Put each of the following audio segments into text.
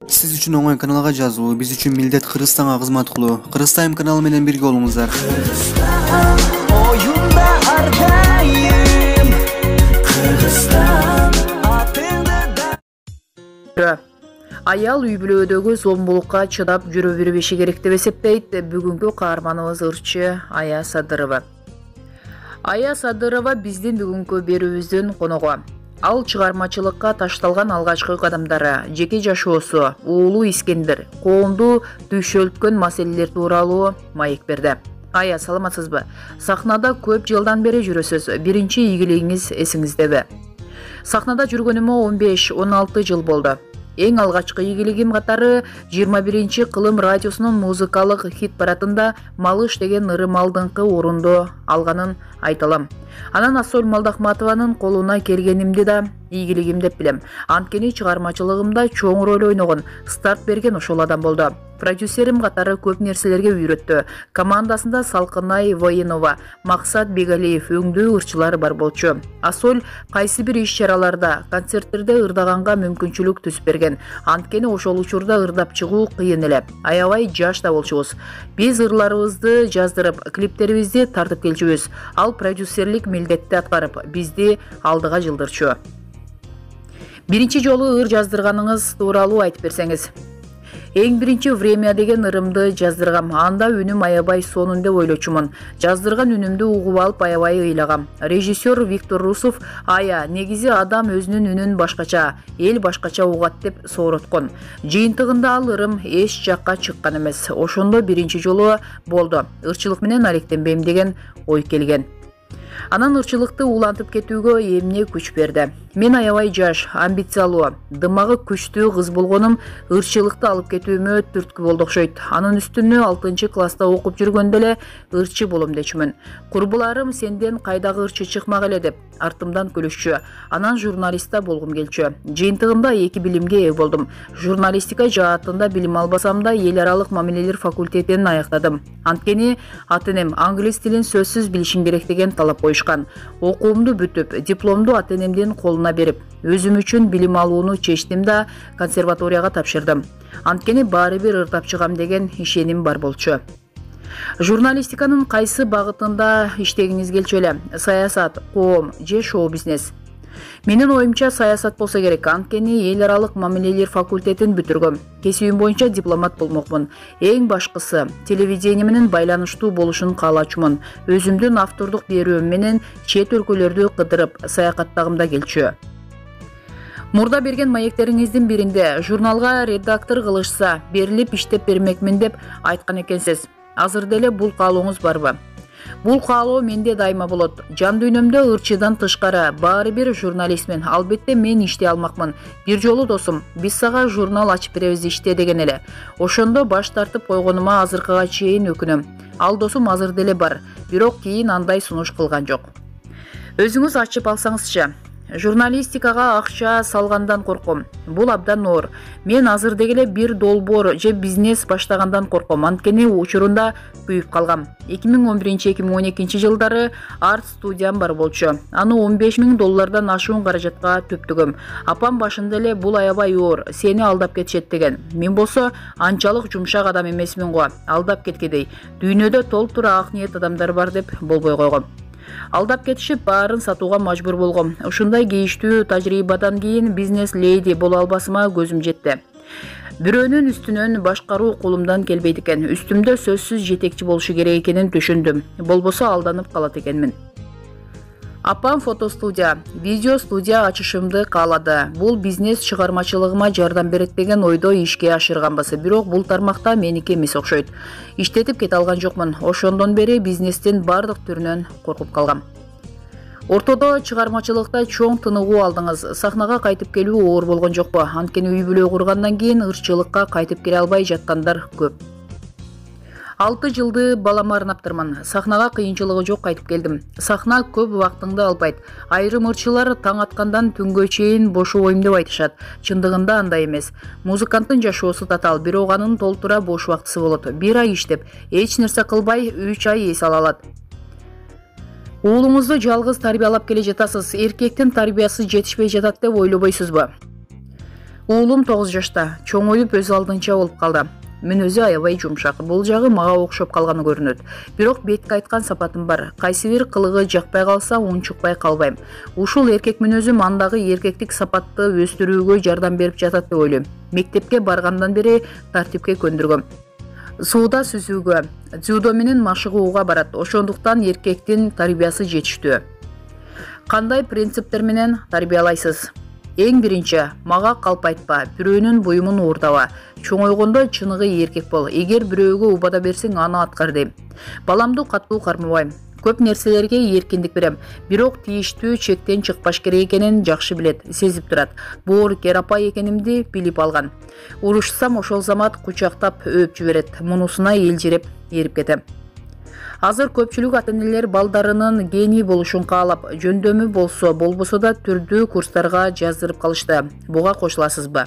Siz üçün oңой каналга жазуу, биз үчүн милдет Кыргызстанга кызмат кылуу. Кыргызстан каналы менен бирге болуңуздар. Оюнда ардайым Кыргызстан атында. Аял үй бүлөдөгү зомбулукка чыдап жүрө бербеши керек деп эсептейт бүгүнкү каарманыбыз ырчы Ая Садырова. Ая Садырова биздин бүгүнкү берүүбүздүн коногу. Ал чыгармачылыкка ташталган алгачкы кадамдары, жеке жашоосу, уулу Искендер, коомду түйшөлткөн маселелер тууралуу маек берди. Ая, саламатсызбы? Сахнада көп жылдан бери жүрөсүз. Биринчи ийгилигиңиз эсиңиздеби? Сахнада жүргөнүмө 15-16 жыл болду. Эң алгачкы ийгилигим катары 21 кылым радиосунун музыкалык хит парадында Малыш деген ырым алдыңкы орунду алганын айталам. Анан Ассоль Молдахматованын колуна келгенимди да ийгилигим деп билем. Анткени чыгармачылыгымда чоң роль ойногон, старт берген ошол адам болду. Продюсерим катары көп нерселерге үйрөттү. Командасында Салкынай Воинова, Максат Бегалиев өңдүү ырчылар бар болчу. Ассоль кайсы бир иш-чараларда, концерттерде ырдаганга мүмкүнчүлүк түзүп берген. Анткени ошол учурда ырдап чыгуу кыйын эле. Аябай жаш да болчубуз. Биз ырларыбызды жаздырып, клиптерибизди тартып келчүбүз. Ал продюсерлик милдетти аткарып, бизди алдыга жылдырчу. Биринчи жолу ыр жаздырганыңыз тууралуу айтып берсеңиз. Эң биринчи «Время» деген ырымды жаздыргам. Анда үнүм аябай сонун деп ойлочумун. Жаздырган үнүмдү угуп алып аябай ыйлагам. Режиссер Виктор Русов «Ая, негизи адам өзүнүн үнүн башкача, эл башкача угат» деп соороткон. Жыйынтыгында ал ырым эч жакка чыккан эмес. Ошондо биринчи жолу болду. Ырчылык менен алектенбейм деген ой келген. Анан ырчылыкты улантып кетүүгө эмне күч берди? Мен аябай жаш, амбициялуу, дымагы күчтүү кыз болгонум ырчылыкты алып кетүүмө түрткү болду окшойт. Анын үстүнө 6-класста окуп жүргөндө эле ырчы болом дечүмүн. Курбуларым сенден кайдагы ырчы чыкмак эле деп артымдан күлүшчү. Анан журналистта болгум келчү. Жыйынтыгында 2 билимге ээ болдум. Журналистика жаатында билим албасам да эл аралык мамилелер факультетин аяктадым. Анткени ата-энем англис тилин сөзсүз билишиң керек деген талап коюшкан. Окуумду бүтүп, дипломду ата-энемдин колуна берип, өзүм үчүн билим алууну чечтим да консерваторияга тапшырдым. Анткени баары бир ырдап чыгам деген ишеним бар болчу. Журналистиканын кайсы багытында иштегиңиз келчү эле? Саясат, коом же шоу-бизнес? Менин оюмча саясат болсо керек, анткени эл аралык мамилелер факультетин бүтүргөм. Кесибим боюнча дипломат болмокмун. Эң башкысы телевидение менен байланыштуу болушун каалачумун. Өзүмдүн автордук берүүм менен чет өлкөлөрдү кыдырып, саякаттагым да келчү. Мурда берген маектериңиздин биринде журналга редактор кылышса, берилип иштеп бермекмин деп айткан экенсиз. Азыр деле бул каалооңуз барбы? Бул каалоо менде дайыма болот. Жан дүйнөмдө ырчыдан тышкары баары бир журналистмин. Албетте мен иштей алмакмын. Бир жолу досум, биз сага журнал ачып беребиз иште деген эле. Ошондо баш тартып койгонума азыркыга чейин өкүнөм. Ал досум азыр деле бар, бирок кийин андай сунуш кылган жок. Өзүңүз ачып алсаңызчы. Журналистикага акча салгандан корком. Бул абдан оор. Мен азыр дегеле бир долбоор же бизнес баштагандан корком. Анткени учурунда күйүп калгам. 2011-2012 жылдары арт студиям бар болчу. Аны $15,000 ашуун каражатка төптүгөм. Апам башында эле бул аябай оор, сени алдап кетишет деген. Мен болсо анчалык жумшак адам эмесмин го. Алдап кеткедей. Дүйнөдө толтура ак ниет адамдар бар деп болбой койгом. Алдап кетишип баарын сатууга мажбур болгом. Ушундай кейиштүү тажрыйбадан кийин бизнес леди боло албасыма көзүм жетти. Бирөөнүн үстүнөн башкаруу колумдан келбейт экен. Үстүмдө сөзсүз жетекчи болушу керек экенин түшүндүм. Болбосо алданып калат экенмин. Апам фотостудия, видео студия ачышымды каалады. Бул бизнес чыгармачылыгыма жардам берет деген ойдо ишке ашырганбыз. Бирок бул тармакта меники эмес окшойт. Иштетип кете алган жокмун. Ошондон бери бизнестин бардык түрүнөн коркуп калгам. Ортодо чыгармачылыкта чоң тыныгуу алдыңыз. Сахнага кайтып келүү оор болгон жокпу? Анткени үй бүлө кургандан кийин ырчылыкка кайтып келе албай жаткандар көп. 6 жылды балама арнаптырмын. Сахнага кыйынчылыгы жок кайтып келдим. Сахна көп убактыңды албайт. Айрым ырчылар таң аткандан түнгө чейин бошобойм деп айтышат. Чындыгында андай эмес. Музыканттын жашоосу татаал, бирок анын толтура бош убактысы болот. 1 ай иштеп, эч нерсе кылбай 3 ай эс ала алат. Уулуңузду жалгыз тарбиялап келе жатасыз. Эркектин тарбиясы жетишпей жатат деп ойлобойсузбу? Уулум 9 жашта, чоңоюп өз алдынча болуп калды. Мүнөзү аябай жумшак. Бул жагы мага окшоп калганы көрүнөт. Бирок бетке айткан сапатым бар. Кайсы бир кылыгы жакпай калса, унчукпай калбайм. Ушул эркек мүнөзүм андагы эркектик сапатты өстүрүүгө жардам берип жатат деп ойлойм. Мектепке баргандан бери тартипке көндүргөм. Сууда сүзүүгө, дзюдо менен машыгууга барат. Ошондуктан эркектин тарбиясы жетиштүү. Кандай принциптер менен тарбиялайсыз? Эң биринчи, мага калп айтпа, бирөөнүн буюмун уурдаба. Чоңойгондо чыныгы эркек бол. Эгер бирөөгө убада берсең, аны аткар дейм. Баламды катуу кармабайм. Көп нерселерге эркиндик берем. Бирок тийиштүү чектен чыкпаш керек экенин жакшы билет, сезип турат. Боор керапай экенимди билип алган. Урушсам ошол замат кучактап өп жиберет. Мунусуна элжиреп эрип кетем. Азыр көпчүлүк ата-энелер балдарынын гений болушун каалап, жөндөмү болбосо да түрдүү курстарга жаздырып калышты. Буга кошуласызбы?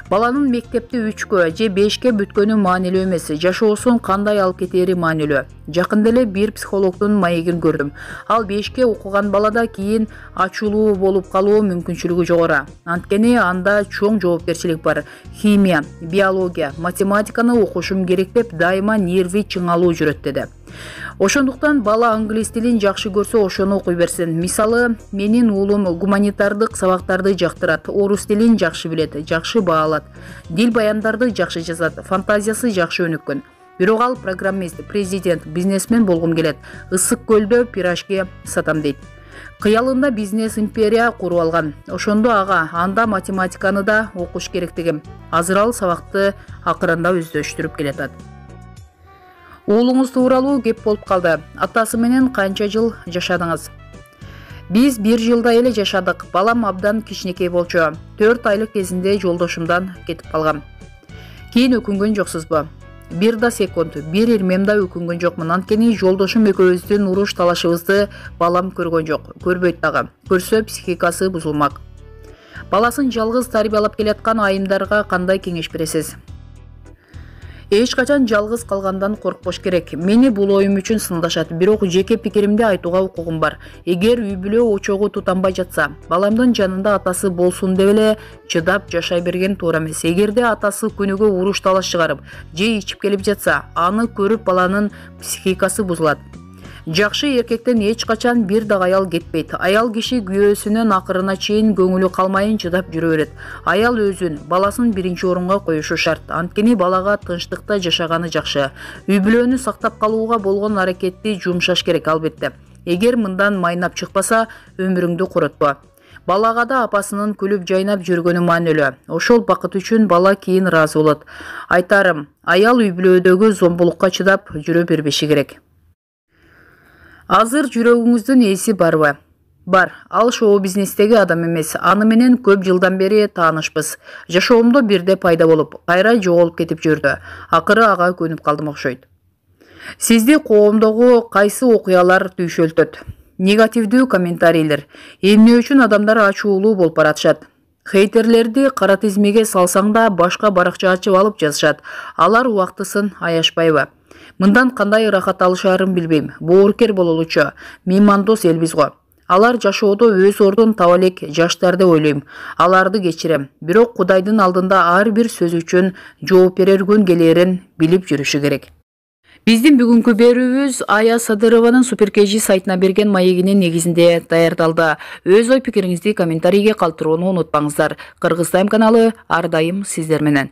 Баланын мектепти 3-кө же 5-ке бүткөнү маанилүү эмес, жашоосун кандай алып кетери маанилүү. Жакында эле бир психологдун маегин көрдүм. Ал 5-ке окуган балада кийин ачуулуу болуп калуу мүмкүнчүлүгү жогору. Анткени анда чоң жоопкерчилик бар. Химия, биология, математиканы окушум керек деп дайыма нерви чыңалуу жүрөт деди. Ошондуктан бала англис тилин жакшы көрсө ошону окуй берсин. Мисалы, менин уулум гуманитардык сабактарды жактырат, орус тилин жакшы билет, жакшы баалат, дил баяндарды жакшы жазат, фантазиясы жакшы өнүккөн. Бирок ал программист, президент, бизнесмен болгум келет. Ысык көлдө пирожки сатам дейт. Кыялында бизнес империя куруп алган. Ошондо анда математиканы да окуш керектигим. Азыр ал сабакты акырында өздөштүрүп келатат. Уулуңуз тууралуу кеп болуп калды. Атасы менен канча жыл жашадыңыз? Биз 1 жылда эле жашадык. Балам абдан кичинекей болчу. 4 айлык кезинде жолдошумдан кетип калгам. Кийин өкүнгөн жоксузбу? 1 да секунд, 1 ирмем да өкүнгөн жокмун. Анткени жолдошум экөөбүздүн уруш талашыбызды балам көргөн жок. Көрбөйт дагы. Көрсө психикасы бузулмак. Баласын жалгыз тарбиялап келаткан айымдарга кандай кеңеш бересиз? Эч качан жалгыз калгандан коркпош керек. Мени бул оюм үчүн сындашат, бирок жеке пикиримди айтууга укугум бар. Эгер үй бүлө очогу тутанбай жатса, баламдын жанында атасы болсун деп эле чыдап жашай берген туура эмес. Эгерде атасы күнүгө уруш талаш чыгарып, же ичип келип жатса, аны көрүп баланын психикасы бузулат. Жакшы эркектен эч качан бир дагы аял кетпейт. Аял киши күйөөсүнүн акырына чейин көңүлү калмайын чыдап жүрө берет. Аял өзүн, баласын биринчи орунга коюшу шарт. Анткени балага тынчтыкта жашаганы жакшы. Үй бүлөнү сактап калууга болгон аракетти жумшаш керек албетте. Эгер мындан майнап чыкпаса, өмүрүңдү коротпо. Балага да апасынын күлүп жайнап жүргөнү маанилүү. Ошол бакыт үчүн бала кийин ыраазы болот. Айтарым, аял үй бүлөдөгү зомбулукка чыдап жүрө бербеши керек. Азыр жүрөгүңүздүн ээси барбы? Бар, ал шоу-бизнестеги адам эмес. Аны менен көп жылдан бери таанышпыз. Жашоомдо бирде пайда болуп, кайра жоголуп кетип жүрдү. Акыры ага көнүп калдым окшойт. Сизди коомдогу кайсы окуялар түйшөлтөт? Негативдүү комментарийлер. Эмне үчүн адамдар ачуулуу болуп баратышат? Хейтерлерди кара тизмеге салсаң да башка баракча ачып алып жазышат. Алар убактысын аяшпайбы? Мындан кандай ырахат алышаарын билбейм. Боорукер бололучу. Меймандос элбиз го. Алар жашоодо өз ордун таба элек жаштар деп ойлойм. Аларды кечирем. Бирок Кудайдын алдында ар бир сөз үчүн жооп берер күн келерин билип жүрүшү керек. Биздин бүгүнкү берүүбүз Ая Садырованын Суперкежи сайтына берген маегинин негизинде даярдалды. Өз ой пикириңизди комментарийге калтырууну унутпаңыздар. Кыргыз Тайм каналы ар дайым сиздер менен.